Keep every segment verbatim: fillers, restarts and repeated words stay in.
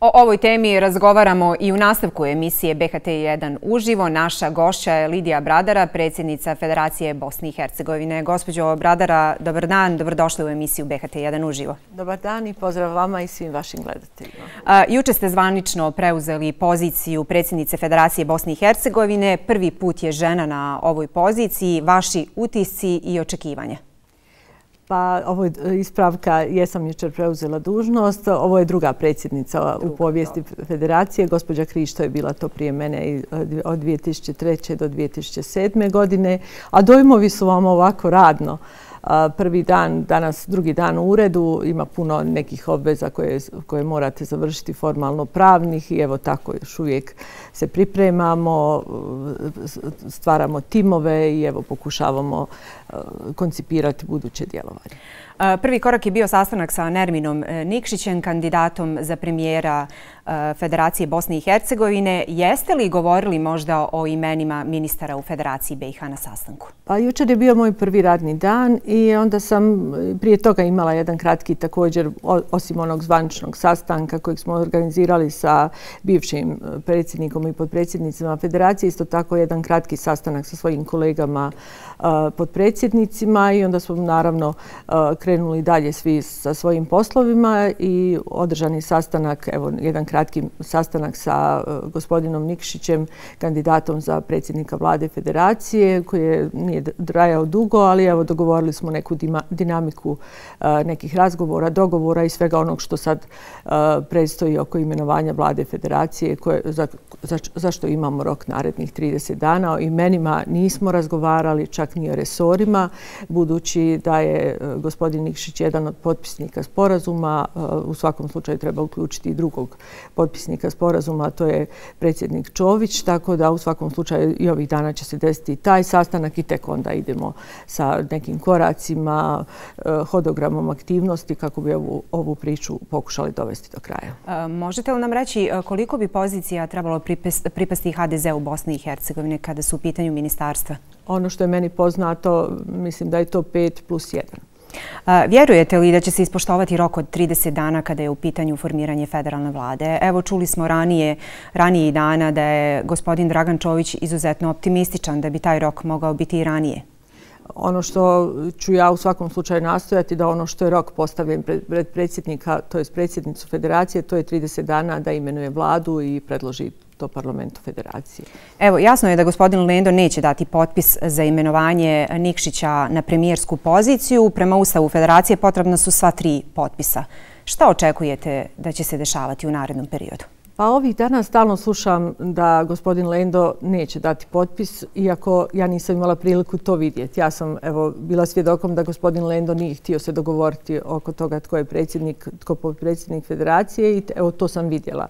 O ovoj temi razgovaramo i u nastavku emisije B H T jedan uživo. Naša gošća je Lidija Bradara, predsjednica Federacije Bosne i Hercegovine. Gospođo Bradara, dobar dan, dobrodošli u emisiju B H T jedan uživo. Dobar dan i pozdrav vama i svim vašim gledateljima. A, juče ste zvanično preuzeli poziciju predsjednice Federacije Bosne i Hercegovine. Prvi put je žena na ovoj poziciji. Vaši utisci i očekivanja? Pa ovo je ispravka, jesam jučer preuzela dužnost. Ovo je druga predsjednica u povijesti federacije. Gospođa Krišto je bila to prije mene od dvije tisuće treće do dvije tisuće sedme godine. A dojmovi su vam ovako radno. Prvi dan, danas drugi dan u uredu, ima puno nekih obveza koje, koje morate završiti formalno pravnih i evo tako još uvijek se pripremamo, stvaramo timove i evo pokušavamo koncipirati buduće djelovanje. Prvi korak je bio sastanak sa Nerminom Nikšićem, kandidatom za premijera Federacije Bosne i Hercegovine. Jeste li govorili možda o imenima ministara u Federaciji B i H na sastanku? Pa jučer je bio moj prvi radni dan i onda sam prije toga imala jedan kratki također, osim onog zvaničnog sastanka kojeg smo organizirali sa bivšim predsjednikom i potpredsjednicima Federacije, isto tako jedan kratki sastanak sa svojim kolegama potpredsjednicima i onda smo naravno krenuli dalje svi sa svojim poslovima i održani sastanak, evo jedan kratki sastanak sa gospodinom Nikšićem, kandidatom za predsjednika vlade Federacije, koji je, nije trajao dugo, ali evo dogovorili smo neku dinamiku nekih razgovora, dogovora i svega onog što sad predstoji oko imenovanja vlade Federacije, koje, za, za, za što imamo rok narednih trideset dana. O imenima nismo razgovarali, čak ni o resorima, budući da je gospodin Nikšić jedan od potpisnika sporazuma. U svakom slučaju treba uključiti i drugog potpisnika sporazuma, a to je predsjednik Čović, tako da u svakom slučaju i ovih dana će se desiti taj sastanak i tek onda idemo sa nekim koracima, hodogramom aktivnosti kako bi ovu, ovu priču pokušali dovesti do kraja. Možete li nam reći koliko bi pozicija trebalo pripasti H D Z u Bosni i Hercegovini kada su u pitanju ministarstva? Ono što je meni poznato, mislim da je to pet plus jedan. Vjerujete li da će se ispoštovati rok od trideset dana kada je u pitanju formiranje federalne vlade? Evo, čuli smo ranije, ranije dana da je gospodin Dragan Čović izuzetno optimističan da bi taj rok mogao biti i ranije. Ono što ću ja u svakom slučaju nastojati da ono što je rok postavljen pred predsjednika, to je predsjednicu Federacije, to je trideset dana da imenuje vladu i predloži to parlamentu Federacije. Evo, jasno je da gospodin Lendo neće dati potpis za imenovanje Nikšića na premijersku poziciju. Prema Ustavu Federacije potrebna su sva tri potpisa. Šta očekujete da će se dešavati u narednom periodu? Pa ovih dana stalno slušam da gospodin Lendo neće dati potpis, iako ja nisam imala priliku to vidjeti. Ja sam evo bila svjedokom da gospodin Lendo nije htio se dogovoriti oko toga tko je predsjednik, tko je potpredsjednik Federacije i evo to sam vidjela.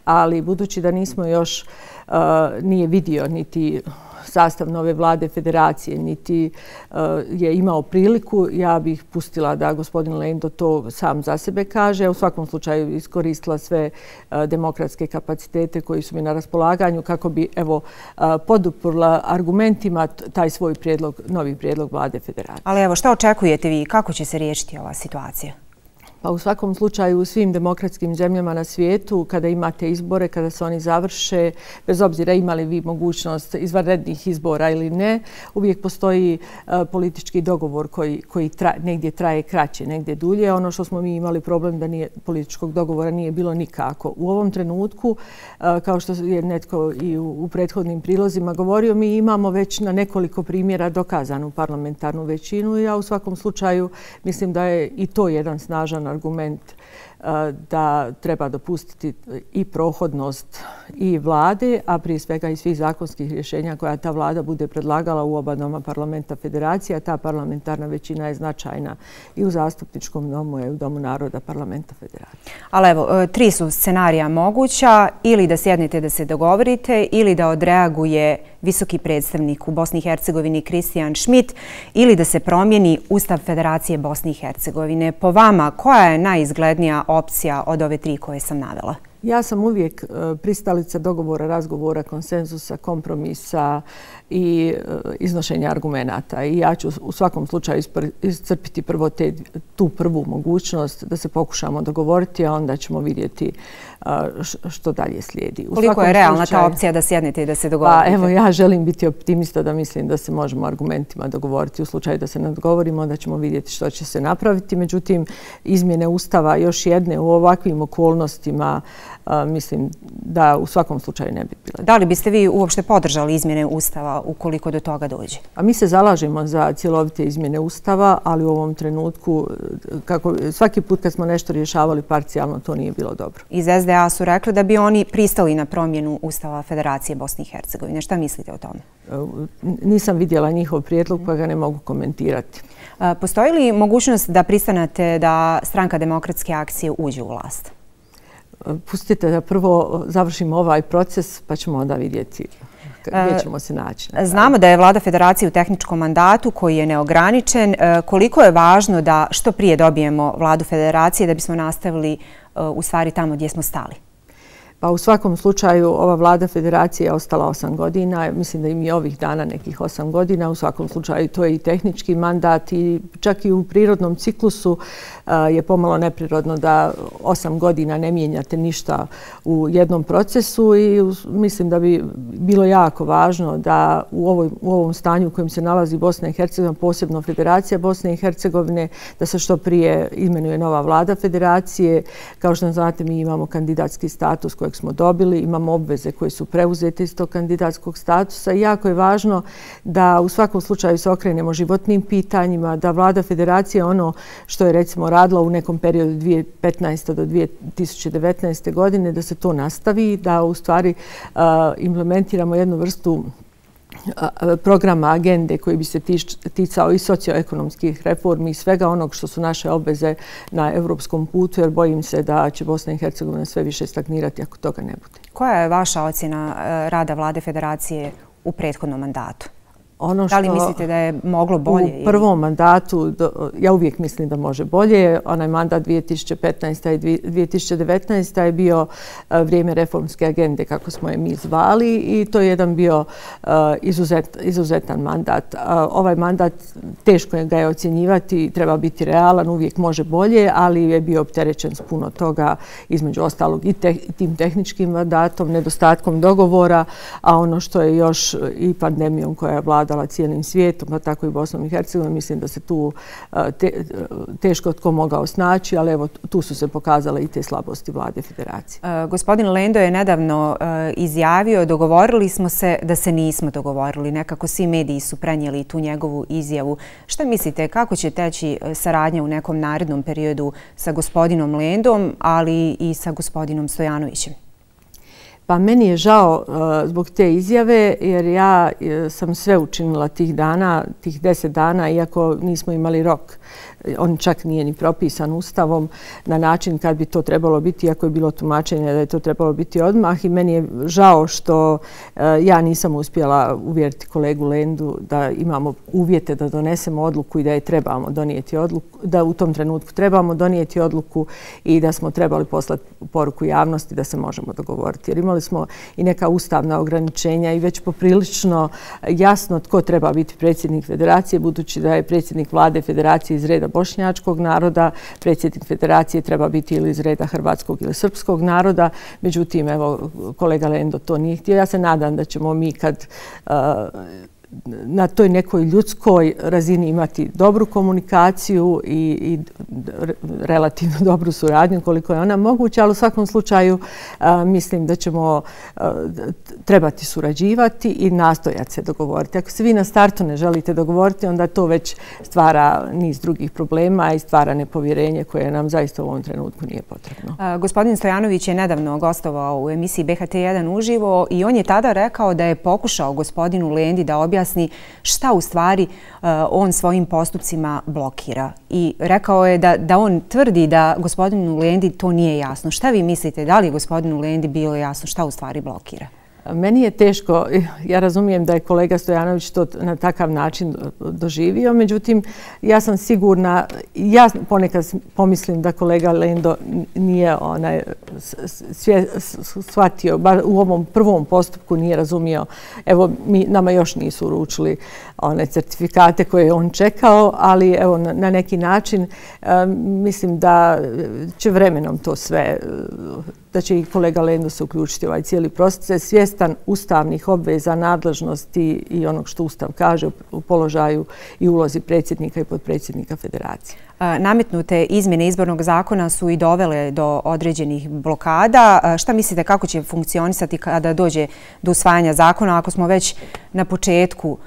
Ali budući da nismo još, uh, nije vidio niti sastav nove vlade Federacije, niti uh, je imao priliku, ja bih pustila da gospodin Lendo to sam za sebe kaže. U svakom slučaju iskoristila sve uh, demokratske kapacitete koji su mi na raspolaganju kako bi evo uh, poduprla argumentima taj svoj prijedlog, novi prijedlog vlade Federacije. Ali evo, šta očekujete vi? Kako će se riješiti ova situacija? Pa u svakom slučaju u svim demokratskim zemljama na svijetu, kada imate izbore, kada se oni završe, bez obzira imali vi mogućnost izvanrednih izbora ili ne, uvijek postoji uh, politički dogovor koji, koji tra, negdje traje kraće, negdje dulje. Ono što smo mi imali problem da nije, političkog dogovora nije bilo nikako. U ovom trenutku, uh, kao što je netko i u, u prethodnim prilozima govorio, mi imamo već na nekoliko primjera dokazanu parlamentarnu većinu i ja u svakom slučaju mislim da je i to jedan snažan argument da treba dopustiti i prohodnost i vlade, a prije svega i svih zakonskih rješenja koja ta vlada bude predlagala u oba doma parlamenta Federacija. Ta parlamentarna većina je značajna i u zastupničkom domu i u Domu naroda parlamenta Federacije. Ali evo, tri su scenarija moguća, ili da sjednete da se dogovorite, ili da odreaguje visoki predstavnik u Bosni i Hercegovini Kristijan Šmit, ili da se promijeni Ustav Federacije Bosne i Hercegovine. Po vama, koja je najizglednija opcija od ove tri koje sam navela? Ja sam uvijek pristalica dogovora, razgovora, konsenzusa, kompromisa i iznošenja argumenata. I ja ću u svakom slučaju iscrpiti prvo te, tu prvu mogućnost da se pokušamo dogovoriti, a onda ćemo vidjeti što dalje slijedi. Koliko je realna ta opcija da sjednete i da se dogovorite? Pa evo, ja želim biti optimista da mislim da se možemo argumentima dogovoriti. U slučaju da se ne dogovorimo, onda ćemo vidjeti što će se napraviti. Međutim, izmjene Ustava još jedne u ovakvim okolnostima mislim da u svakom slučaju ne bi bile. Da li biste vi uopšte podržali izmjene Ustava ukoliko do toga dođe? A mi se zalažemo za cjelovite izmjene Ustava, ali u ovom trenutku, kako svaki put kad smo nešto rješavali parcijalno, to nije bilo dobro. Iz S D A su rekli da bi oni pristali na promjenu Ustava Federacije Bosne i Hercegovine. Šta mislite o tome? Nisam vidjela njihov prijedlog, pa ga ne mogu komentirati. Postoji li mogućnost da pristanete da Stranka demokratske akcije uđe u vlast? Pustite da prvo završimo ovaj proces, pa ćemo onda vidjeti gdje ćemo se naći. Znamo da je Vlada Federacije u tehničkom mandatu koji je neograničen. Koliko je važno da što prije dobijemo Vladu Federacije da bismo nastavili u stvari tamo gdje smo stali? Pa u svakom slučaju ova Vlada Federacije je ostala osam godina. Mislim da im je ovih dana nekih osam godina. U svakom slučaju to je i tehnički mandat i čak i u prirodnom ciklusu je pomalo neprirodno da osam godina ne mijenjate ništa u jednom procesu i mislim da bi bilo jako važno da u, ovoj, u ovom stanju u kojem se nalazi Bosna i Hercegovina, posebno Federacija Bosne i Hercegovine, da se što prije imenuje nova Vlada Federacije. Kao što znate, mi imamo kandidatski status kojeg smo dobili, imamo obveze koje su preuzete iz tog kandidatskog statusa i jako je važno da u svakom slučaju se okrenemo životnim pitanjima, da Vlada Federacije ono što je recimo radila u nekom periodu dvije tisuće petnaeste do dvije tisuće devetnaeste godine, da se to nastavi, da u stvari uh, implementiramo jednu vrstu programa, agende koji bi se ticao i socioekonomskih reformi i svega onog što su naše obveze na evropskom putu, jer bojim se da će Bosna i Hercegovina sve više stagnirati ako toga ne bude. Koja je vaša ocjena rada Vlade Federacije u prethodnom mandatu? Ono da li mislite da je moglo bolje? U prvom mandatu, ja uvijek mislim da može bolje. Onaj mandat dvije tisuće petnaeste i dvije tisuće devetnaeste je bio vrijeme reformske agende, kako smo je mi zvali, i to je jedan bio izuzet, izuzetan mandat. Ovaj mandat, teško je ga je ocjenjivati, treba biti realan, uvijek može bolje, ali je bio opterećen s puno toga, između ostalog i te, tim tehničkim mandatom, nedostatkom dogovora, a ono što je još i pandemijom koja je vladala cijelim svijetom, pa tako i Bosnom i Hercegovinom. Mislim da se tu te, teško tko mogao snaći, ali evo tu su se pokazale i te slabosti Vlade Federacije. Uh, gospodin Lendo je nedavno uh, izjavio, dogovorili smo se da se nismo dogovorili. Nekako svi mediji su prenijeli tu njegovu izjavu. Šta mislite, kako će teći saradnja u nekom narednom periodu sa gospodinom Lendom, ali i sa gospodinom Stojanovićem? Pa meni je žao uh, zbog te izjave, jer ja uh, sam sve učinila tih dana, tih deset dana, iako nismo imali rok. On čak nije ni propisan Ustavom na način kad bi to trebalo biti, iako je bilo tumačenje da je to trebalo biti odmah. I meni je žao što uh, ja nisam uspjela uvjeriti kolegu Lendu da imamo uvjete da donesemo odluku i da je trebamo donijeti odluku, da u tom trenutku trebamo donijeti odluku i da smo trebali poslati poruku javnosti da se možemo dogovoriti. Jer imali smo i neka ustavna ograničenja i već poprilično jasno tko treba biti predsjednik Federacije, budući da je predsjednik Vlade Federacije iz reda bošnjačkog naroda, predsjednik Federacije treba biti ili iz reda hrvatskog ili srpskog naroda. Međutim, evo, kolega Lendo to nije htio. Ja se nadam da ćemo mi kad uh, na toj nekoj ljudskoj razini imati dobru komunikaciju i, i relativno dobru suradnju koliko je ona moguća, ali u svakom slučaju a, mislim da ćemo a, trebati surađivati i nastojati se dogovoriti. Ako se vi na startu ne želite dogovoriti, onda to već stvara niz drugih problema i stvara nepovjerenje koje nam zaista u ovom trenutku nije potrebno. A, gospodin Stojanović je nedavno gostovao u emisiji B H T jedan uživo i on je tada rekao da je pokušao gospodinu Lendi da objasni šta u stvari uh, on svojim postupcima blokira. I rekao je da, da on tvrdi da gospodinu Lendi to nije jasno. Šta vi mislite, da li je gospodinu Lendi bilo jasno šta u stvari blokira? Meni je teško, ja razumijem da je kolega Stojanović to na takav način doživio, međutim, ja sam sigurna, ja ponekad pomislim da kolega Lendo nije onaj, svje, shvatio, bar u ovom prvom postupku nije razumio, evo, mi, nama još nisu uručili one certifikate koje je on čekao, ali evo, na, na neki način mislim da će vremenom to sve, da će i kolega Lendo se uključiti u ovaj cijeli proces, svjestan ustavnih obveza, nadležnosti i onog što Ustav kaže u položaju i ulozi predsjednika i potpredsjednika federacije. Nametnute izmjene izbornog zakona su i dovele do određenih blokada. Šta mislite kako će funkcionisati kada dođe do usvajanja zakona ako smo već na početku,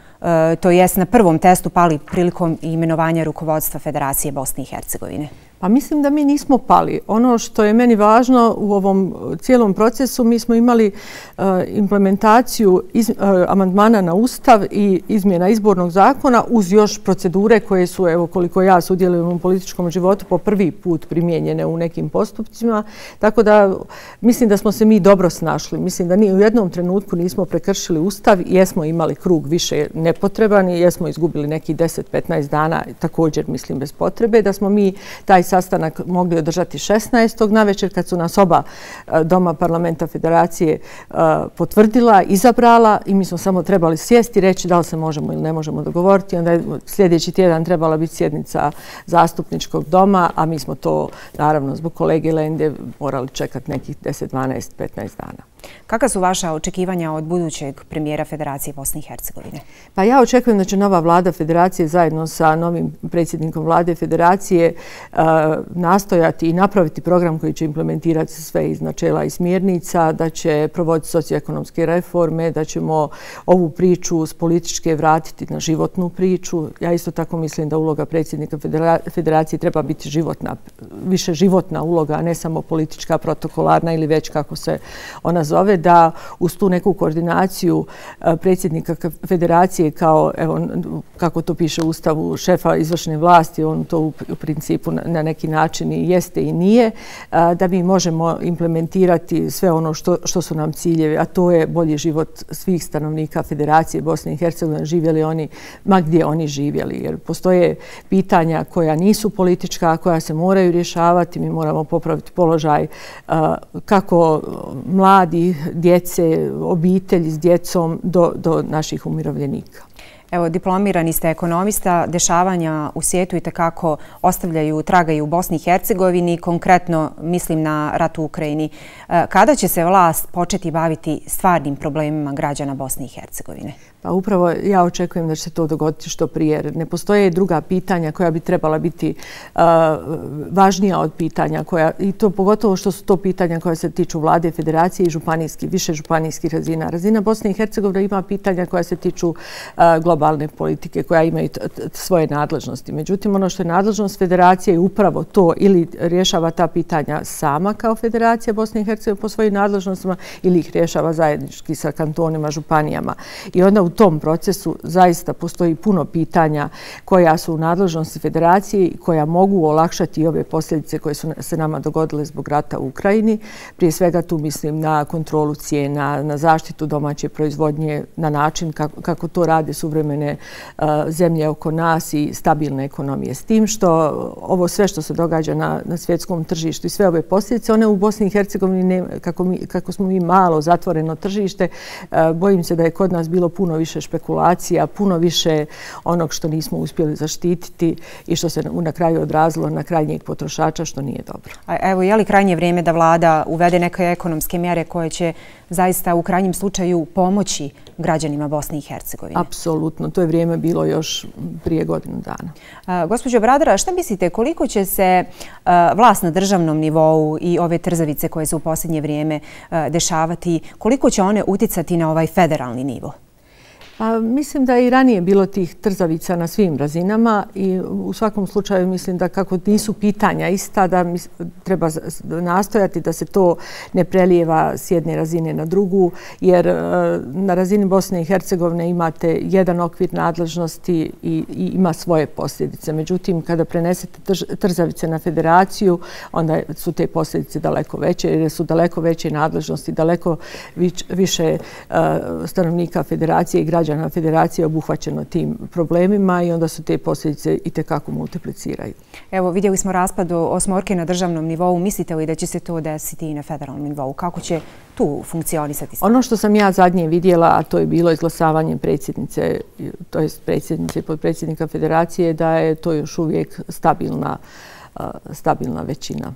to jest na prvom testu, pali prilikom imenovanja rukovodstva Federacije Bosne i Hercegovine? Pa mislim da mi nismo pali. Ono što je meni važno u ovom cijelom procesu, mi smo imali uh, implementaciju iz, uh, amandmana na Ustav i izmjena izbornog zakona uz još procedure koje su, evo koliko ja sudjelujem u političkom životu, po prvi put primijenjene u nekim postupcima. Tako da mislim da smo se mi dobro snašli. Mislim da ni u jednom trenutku nismo prekršili Ustav, jesmo imali krug više nepotreban i jesmo izgubili neki deset do petnaest dana, također mislim bez potrebe, da smo mi taj sastanak mogli održati šesnaestog navečer kad su nas oba doma parlamenta federacije potvrdila, izabrala i mi smo samo trebali sjesti i reći da li se možemo ili ne možemo dogovoriti. Onda je sljedeći tjedan trebala biti sjednica zastupničkog doma, a mi smo to naravno zbog kolege Lende morali čekati nekih deset, dvanaest, petnaest dana. Kakva su vaša očekivanja od budućeg premijera Federacije Bosne i Hercegovine? Pa ja očekujem da će nova vlada Federacije zajedno sa novim predsjednikom vlade Federacije uh, nastojati i napraviti program koji će implementirati sve iz načela i smjernica, da će provoditi socioekonomske reforme, da ćemo ovu priču s političke vratiti na životnu priču. Ja isto tako mislim da uloga predsjednika Federacije treba biti životna, više životna uloga, a ne samo politička, protokolarna ili već kako se ona zove, da uz tu neku koordinaciju predsjednika Federacije kao, evo, kako to piše u Ustavu, šefa izvršne vlasti, on to u, u principu na, na neki način i jeste i nije, da mi možemo implementirati sve ono što, što su nam ciljevi, a to je bolji život svih stanovnika Federacije Bosne i Hercegovine, živjeli oni, ma gdje oni živjeli, jer postoje pitanja koja nisu politička, koja se moraju rješavati, mi moramo popraviti položaj kako mladi, djece, obitelji s djecom do, do naših umirovljenika. Evo, diplomirani ste ekonomista, dešavanja u svijetu i tekako ostavljaju traga i u Bosni i Hercegovini, konkretno mislim na rat u Ukrajini. Kada će se vlast početi baviti stvarnim problemima građana Bosne i Hercegovine? Pa upravo ja očekujem da će se to dogoditi što prije, jer ne postoje druga pitanja koja bi trebala biti uh, važnija od pitanja koja, i to pogotovo što su to pitanja koja se tiču vlade, federacije i županijski, više županijskih razina. Razina Bosne i Hercegovine ima pitanja koja se tiču uh, globalne politike, koja imaju svoje nadležnosti. Međutim, ono što je nadležnost federacije je upravo to, ili rješava ta pitanja sama kao Federacija Bosne i Hercegovine po svojim nadležnostima, ili ih rješava zajednički sa kantonima, županijama. I onda u tom procesu zaista postoji puno pitanja koja su u nadležnosti federacije i koja mogu olakšati ove posljedice koje su se nama dogodile zbog rata u Ukrajini. Prije svega tu mislim na kontrolu cijena, na zaštitu domaće proizvodnje na način kako, kako to rade suvremene uh, zemlje oko nas i stabilne ekonomije. S tim što ovo sve što se događa na, na svjetskom tržištu i sve ove posljedice, one u Bosni i Hercegovini, ne, kako, mi, kako smo mi malo zatvoreno tržište, uh, bojim se da je kod nas bilo puno više špekulacija, puno više onog što nismo uspjeli zaštititi i što se na kraju odrazilo na krajnjeg potrošača, što nije dobro. A evo, je li krajnje vrijeme da vlada uvede neke ekonomske mjere koje će zaista u krajnjem slučaju pomoći građanima Bosne i Hercegovine? Apsolutno. To je vrijeme bilo još prije godinu dana. A, gospođo Bradara, šta mislite, koliko će se a, vlast na državnom nivou i ove trzavice koje se u posljednje vrijeme a, dešavati, koliko će one uticati na ovaj federalni nivo? Pa, mislim da je i ranije bilo tih trzavica na svim razinama i u svakom slučaju mislim da kako nisu pitanja ista, da treba nastojati da se to ne prelijeva s jedne razine na drugu, jer na razini Bosne i Hercegovine imate jedan okvir nadležnosti i, i ima svoje posljedice. Međutim, kada prenesete trzavice na federaciju, onda su te posljedice daleko veće, jer su daleko veće nadležnosti, daleko više stanovnika federacije i građana na federacije obuhvaćeno tim problemima i onda su te posljedice i tekako multipliciraju. Evo, vidjeli smo raspad osmorke na državnom nivou. Mislite li da će se to desiti i na federalnom nivou? Kako će tu funkcionisati? Ono što sam ja zadnje vidjela, a to je bilo izglasavanje predsjednice, to je predsjednice i podpredsjednika federacije, da je to još uvijek stabilna, stabilna većina.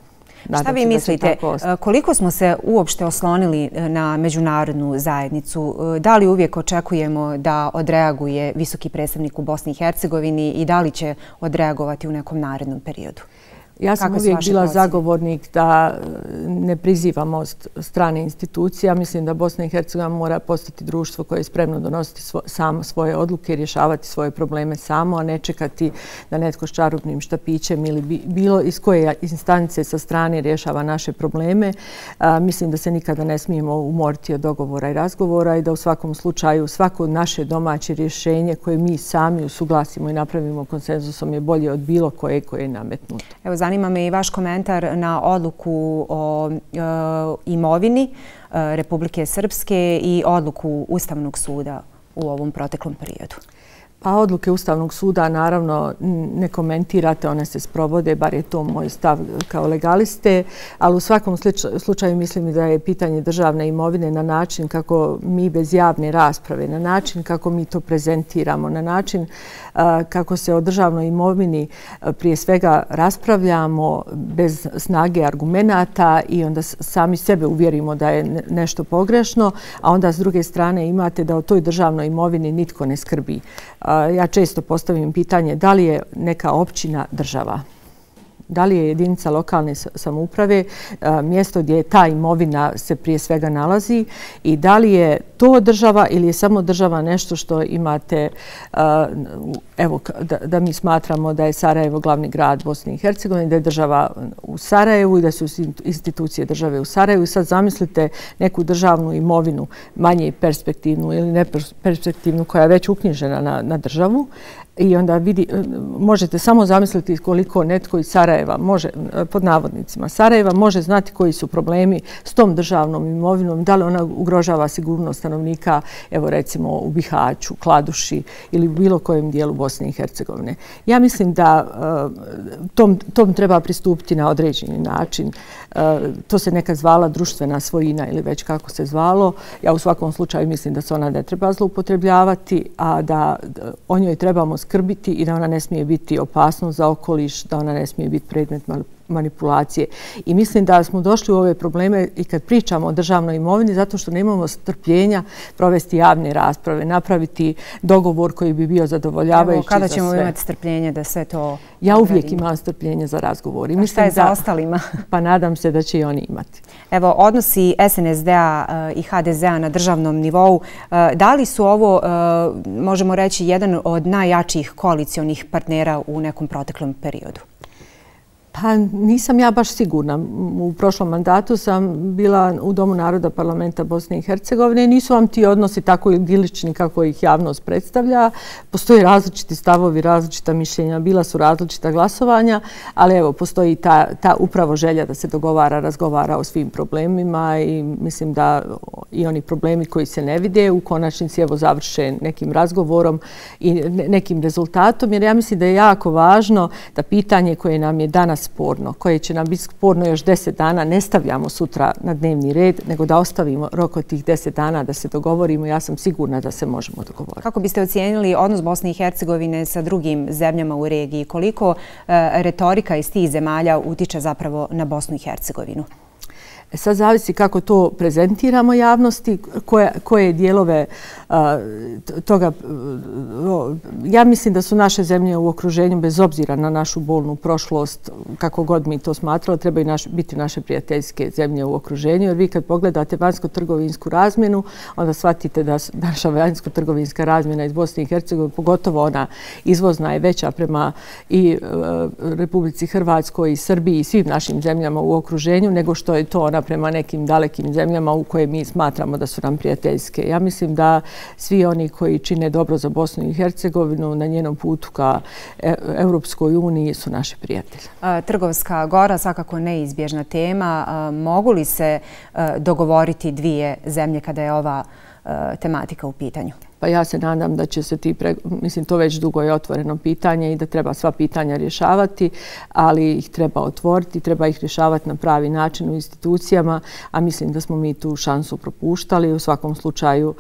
Šta vi mislite, koliko smo se uopšte oslonili na međunarodnu zajednicu? Da li uvijek očekujemo da odreaguje visoki predstavnik u Bosni i Hercegovini i da li će odreagovati u nekom narednom periodu? Ja sam uvijek bila zagovornik da ne prizivamo strane institucije. Mislim da Bosna i Hercegovina mora postati društvo koje je spremno donositi samo svoje odluke i rješavati svoje probleme samo, a ne čekati da netko s čarobnim štapićem ili bilo iz koje instance sa strane rješava naše probleme. Mislim da se nikada ne smijemo umoriti od dogovora i razgovora i da u svakom slučaju svako naše domaće rješenje koje mi sami usuglasimo i napravimo konsenzusom je bolje od bilo koje koje je nametnuto. Evo, zanima me i vaš komentar na odluku o e, imovini e, Republike Srpske i odluku Ustavnog suda u ovom proteklom periodu. Pa odluke Ustavnog suda naravno ne komentirate, one se sprovode, bar je to moj stav kao legaliste, ali u svakom slučaju mislim da je pitanje državne imovine na način kako mi bez javne rasprave, na način kako mi to prezentiramo, na način kako se o državnoj imovini prije svega raspravljamo bez snage argumenata i onda sami sebe uvjerimo da je nešto pogrešno, a onda s druge strane imate da o toj državnoj imovini nitko ne skrbi. Ja često postavim pitanje da li je neka općina država, da li je jedinica lokalne samouprave mjesto gdje ta imovina se prije svega nalazi i da li je to država ili je samo država nešto što imate, evo da mi smatramo da je Sarajevo glavni grad Bosne i Hercegovine, da je država u Sarajevu i da su institucije države u Sarajevu. I sad zamislite neku državnu imovinu, manje perspektivnu ili neperspektivnu koja je već uknjižena na, na državu. I onda vidi, možete samo zamisliti koliko netko iz Sarajeva može, pod navodnicima, Sarajeva može znati koji su problemi s tom državnom imovinom, da li ona ugrožava sigurnost stanovnika, evo recimo u Bihaću, Kladuši ili u bilo kojem dijelu Bosne i Hercegovine. Ja mislim da tom, tom treba pristupiti na određeni način. To se nekad zvala društvena svojina ili već kako se zvalo. Ja u svakom slučaju mislim da se ona ne treba zloupotrebljavati, a da o njoj trebamo skrbiti i da ona ne smije biti opasnost za okoliš, da ona ne smije biti predmet manipulacije. I mislim da smo došli u ove probleme i kad pričamo o državnoj imovini zato što nemamo strpljenja provesti javne rasprave, napraviti dogovor koji bi bio zadovoljavajući za sve. Evo, kada ćemo imati strpljenje da sve to... Ja uvijek imam strpljenje za razgovor. A šta je za ostalima? Pa nadam se da će i oni imati. Evo, odnosi S N S D-a i H D Z-a na državnom nivou, da li su ovo, možemo reći, jedan od najjačih koalicionih partnera u nekom proteklom periodu? Pa nisam ja baš sigurna. U prošlom mandatu sam bila u Domu naroda parlamenta Bosne i Hercegovine i nisu vam ti odnosi tako idilični kako ih javnost predstavlja. Postoje različiti stavovi, različita mišljenja, bila su različita glasovanja, ali evo, postoji ta, ta upravo želja da se dogovara, razgovara o svim problemima i mislim da i oni problemi koji se ne vide u konačnici evo završe nekim razgovorom i nekim rezultatom, jer ja mislim da je jako važno da pitanje koje nam je danas sporno, koje će nam biti sporno još deset dana, ne stavljamo sutra na dnevni red, nego da ostavimo rok od tih deset dana da se dogovorimo. Ja sam sigurna da se možemo dogovoriti. Kako biste ocijenili odnos Bosne i Hercegovine sa drugim zemljama u regiji? Koliko e, retorika iz tih zemalja utiče zapravo na Bosnu i Hercegovinu? Sad zavisi kako to prezentiramo javnosti, koje, koje dijelove a, toga. Ja mislim da su naše zemlje u okruženju, bez obzira na našu bolnu prošlost, kako god mi to smatrali, trebaju naš, biti naše prijateljske zemlje u okruženju. Jer vi kad pogledate vanjsko-trgovinsku razmjenu, onda shvatite da naša vanjsko-trgovinska razmjena iz Bosne i Hercegovine, pogotovo ona izvozna, je veća prema i a, Republici Hrvatskoj i Srbiji i svim našim zemljama u okruženju, nego što je to ona prema nekim dalekim zemljama u koje mi smatramo da su nam prijateljske. Ja mislim da svi oni koji čine dobro za Bosnu i Hercegovinu na njenom putu ka Europskoj uniji su naši prijatelji. Trgovska gora svakako neizbježna tema. Mogu li se dogovoriti dvije zemlje kada je ova tematika u pitanju? Pa ja se nadam da će se ti, pre... mislim to već dugo je otvoreno pitanje i da treba sva pitanja rješavati, ali ih treba otvoriti, treba ih rješavati na pravi način u institucijama, a mislim da smo mi tu šansu propuštali. U svakom slučaju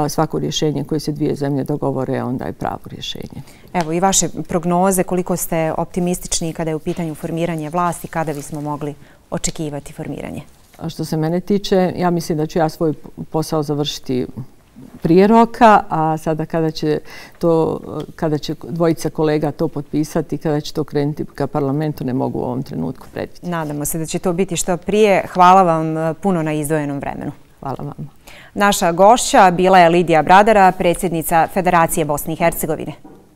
svako rješenje koje se dvije zemlje dogovore onda je pravo rješenje. Evo i vaše prognoze, koliko ste optimistični kada je u pitanju formiranje vlasti, kada bismo mogli očekivati formiranje? A što se mene tiče, ja mislim da ću ja svoj posao završiti prije roka, a sada kada će, to, kada će dvojica kolega to potpisati, kada će to krenuti ka parlamentu, ne mogu u ovom trenutku predvidjeti. Nadamo se da će to biti što prije. Hvala vam puno na izdvojenom vremenu. Hvala vam. Naša gošća bila je Lidija Bradara, predsjednica Federacije Bosne i Hercegovine.